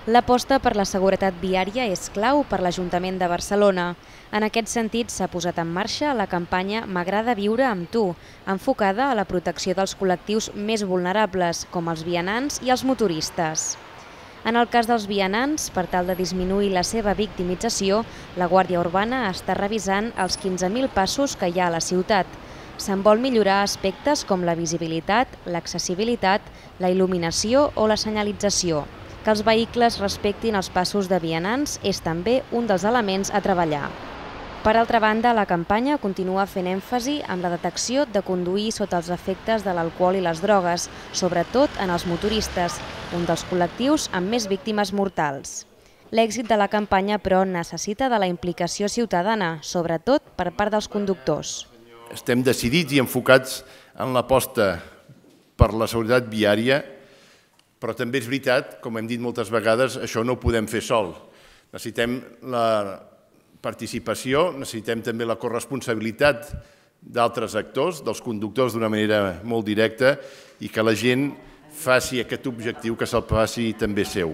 L'aposta per la seguretat viària és clau per l'Ajuntament de Barcelona. En aquest sentit, s'ha posat en marxa la campanya M'agrada viure amb tu, enfocada a la protecció dels col·lectius més vulnerables, com els vianants i els motoristes. En el cas dels vianants, per tal de disminuir la seva victimització, la Guàrdia Urbana està revisant els 15.000 passos que hi ha a la ciutat. Se'n vol millorar aspectes com la visibilitat, l'accessibilitat, la il·luminació o la senyalització. Que els vehicles respectin els passos de vianants és també un dels elements a treballar. Per altra banda, la campanya continua fent èmfasi en la detecció de conduir sota els efectes de l'alcohol i les drogues, sobretot en els motoristes, un dels col·lectius amb més víctimes mortals. L'èxit de la campanya, però, necessita de la implicació ciutadana, sobretot per part dels conductors. Estem decidits i enfocats en l'aposta per la seguretat viària, però també és veritat, com hem dit moltes vegades, això no ho podem fer sol. Necessitem la participació, necessitem també la corresponsabilitat d'altres actors, dels conductors d'una manera molt directa, i que la gent faci aquest objectiu, que se'l faci també seu.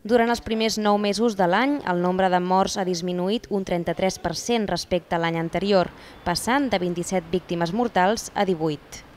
Durant els primers 9 mesos de l'any, el nombre de morts ha disminuït un 33% respecte a l'any anterior, passant de 27 víctimes mortals a 18.